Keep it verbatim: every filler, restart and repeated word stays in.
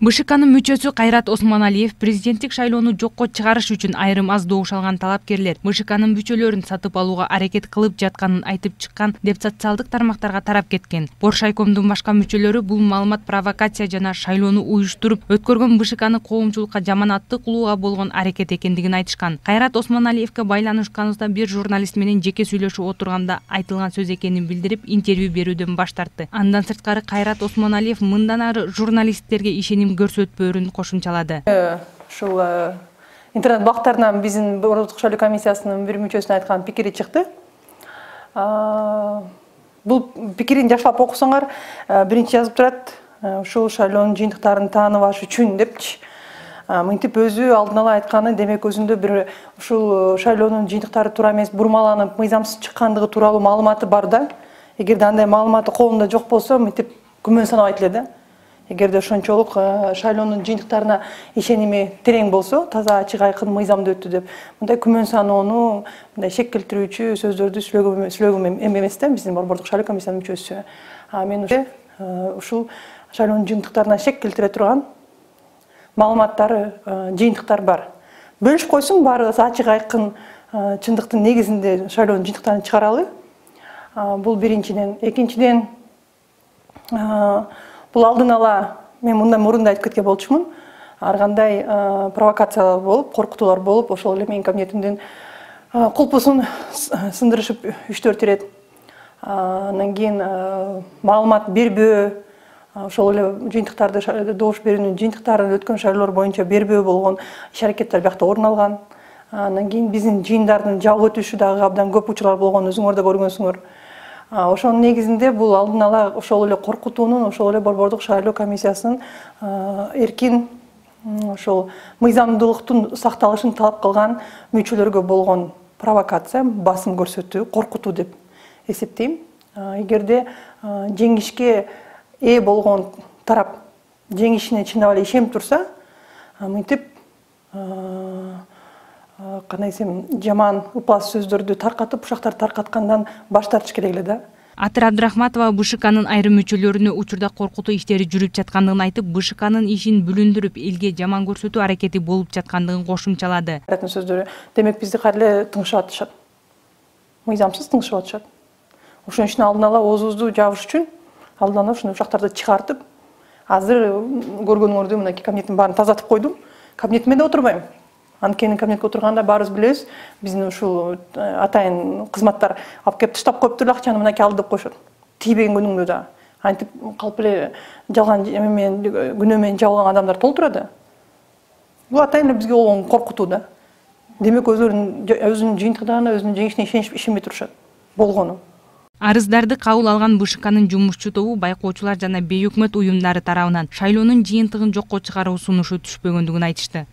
БШКнын мүчөсү Кайрат Осмоналиев президенттик шайлоону жокко чыгарыш үчүн айрым аз добуш алган талапкерлер БШКнын мүчөлөрүн сатып алууга аракет кылып жатканын айтып чыккан деп социалдык тармактарга тарап кеткен. Боршайкомдун башка мүчөлөрү бул маалымат провокация жана шайлоону уюштуруп өткөргөн БШКны коомчулукка жаманаттык кылууга болгон аракет экендигин айтышкан. Кайрат Осмоналиевке байланышканыбызда бир журналист менен жеке сүйлөшүп отурганда айтылган сөз экенин билдирип, интервью берүүдөн баш тартты. Андан сырткары Кайрат Осмоналиев мындан ары журналисттерге ишеним көрсөтпөөрүн кошумчалады. Ушул интернет бактарынан биздин Борбордук шайлоо комиссиясынын бир мүчөсүнүн айткан пикири чыкты. Бул пикирин жакшылап окусаңар, биринчи жазып турат, ушул шайлоонун жыйынтыктарын тааныбаш үчүн депчи. Мынтип өзү алдын ала айтканы, демек өзүндө бир ушул шайлоонун жыйынтыктары туура эмес, бурмаланып, мыйзамсыз чыккандыгы тууралуу маалыматы бар да. Эгерде андай маалыматы колунда жок болсо, мынтип күмөн санабайт эле да. Эгерде ошончолук шайлоонун жыйынтыктарына ишеними терең болсо, таза ачык айкын мыйзамда өттү деп, мындай күмөн саноону, мындай шек келтирүүчү сөздөрдү сүйлөгөм эмес да, биздин Борбордук шайлоо комиссиянын мүчөсү. А мен ушул шайлоонун жыйынтыктарына шек келтире турган маалыматтары, жыйынтыктар бар. Бөлүшүп койсун, баары ачык айкын чындыктын негизинде шайлоонун жыйынтыктарын чыгаралы. Бул биринчиден. Экинчиден, бул алдын ала, мен мындан мурун да айтып кеткен болчумун, ар кандай провокациялар болуп, коркутуулар болуп, ошол эле менин кабинетимдин кулпусун сындырышып үч төрт ирет. Андан кийин маалымат бербөө, ошол эле жыйынтыктарды, добуш берүүнүн жыйынтыктарын өткөн шайлоолор боюнча бербөө болгон иш-аракеттер биякта орун алган. Андан кийин биздин жыйындардын жабылып өтүшү дагы абдан көп учурлар болгон, өзүңөр да көргөнсүңөр. Ошонун негизинде бул алдын ала ошол эле коркутуунун, ошол эле Борбордук шайлоо комиссиясынын эркин ошол мыйзамдуулуктун сакталышын талап кылган мүчөлөргө болгон провокация, басым көрсөтүү, коркутуу деп эсептейм. Эгерде жеңишке ээ болгон тарап жеңишине чындап эле ишенип турса, мынтип кандай десем, жаман упас сөздөрдү таркатып, ушактарды таркаткандан баш тартыш керек эле да. Атыр Абдрахматова БШКнын айрым мүчөлөрүнө учурда коркутуу иштери жүрүп жаткандыгын айтып, БШКнын ишин бүлүндүрүп, элге жаман көрсөтүү аракети болуп жаткандыгын кошумчалады. Сөздөрү, демек бизди кайра эле тыңшап атышат. Мыйзамсыз тыңшап атышат. Ошон үчүн алдын ала оозубузду жабыш үчүн алдын ала ушундай ушактарды чыгартып, азыр көргөнүңөрдү мынакей кабинеттин баарын тазартып койдум. Кабинетиме да отурбайм. Анткени кабинетке отурганда баарыбыз билебиз, биздин ушул атайын кызматтар алып келип таштап коюптур эле акчаны мынакей ал деп коюшат. Тийбеген күнүңдө да. Антип калп эле жалган менен күнөө менен жабылган адамдар толтура да. Бул атайын эле бизге болгон коркутуу да. Демек өзүнүн өзүнүн жыйынтыктарына, өзүнүн жеңишине ишенишип ишенбей турушат. Болгону. Арыздарды кабыл алган БШКнын жумушчу тобу байкоочулар жана бейөкмөт уюмдары тарабынан шайлоонун жыйынтыгын жокко чыгаруу сунушу түшпөгөндүгүн айтышты.